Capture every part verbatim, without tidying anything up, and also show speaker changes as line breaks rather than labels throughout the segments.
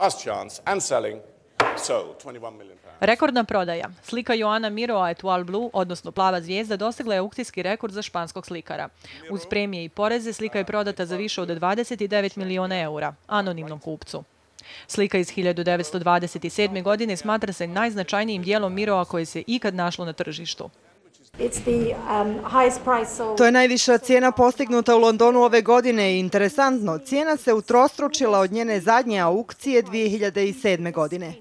Last chance and selling. Sold twenty-one million pounds.
Rekordna prodaja. Slika Joana Miroa Etoile Blue, odnosno Plava zvijezda, dostigla je aukcijski rekord za španskog slikara. Uz premije i poreze slika je prodata za više od dvadeset devet miliona eura, anonimnom kupcu. Slika iz hiljadu devetsto dvadeset sedme. godine smatra se najznačajnijim dijelom Miroa koje se ikad našlo na tržištu.
To je najviša cijena postignuta u Londonu ove godine i interesantno, cijena se utrostručila od njene zadnje aukcije dvije hiljade sedme. godine.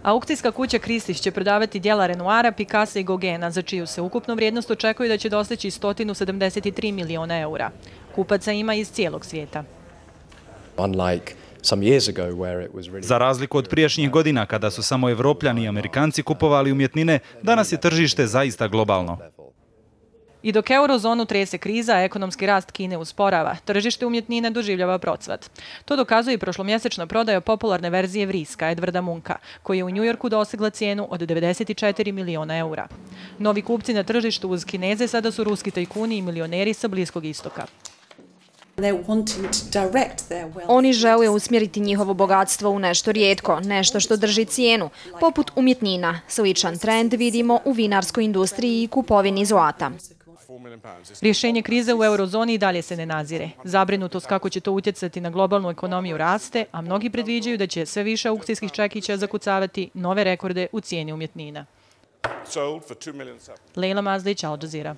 Aukcijska kuća Christie's će prodavati djela Renoira, Picassa i Gauguina, za čiju se ukupnu vrijednost očekuje da će dostići sto sedamdeset tri miliona eura. Kupaca ima iz cijelog svijeta.
Za razliku od prijašnjih godina kada su samo Evropljani i Amerikanci kupovali umjetnine, danas je tržište zaista globalno.
I dok eurozonu trese kriza, a ekonomski rast Kine usporava, tržište umjetnine doživljava procvat. To dokazuje i prošlomjesečna prodaja popularne verzije vriska Edwarda Munka, koji je u Njujorku dostigla cijenu od devedeset četiri miliona eura. Novi kupci na tržištu uz Kineze sada su ruski tajkuni i milioneri sa Bliskog istoka.
Oni žele usmjeriti njihovo bogatstvo u nešto rijetko, nešto što drži cijenu, poput umjetnina. Sličan trend vidimo u vinarskoj industriji i kupovini zlata.
Rješenje krize u eurozoni i dalje se ne nazire. Zabrinutost kako će to utjecati na globalnu ekonomiju raste, a mnogi predviđaju da će sve više aukcijskih čekića zakucavati nove rekorde u cijeni umjetnina. Leila Mazlić, Al Jazeera.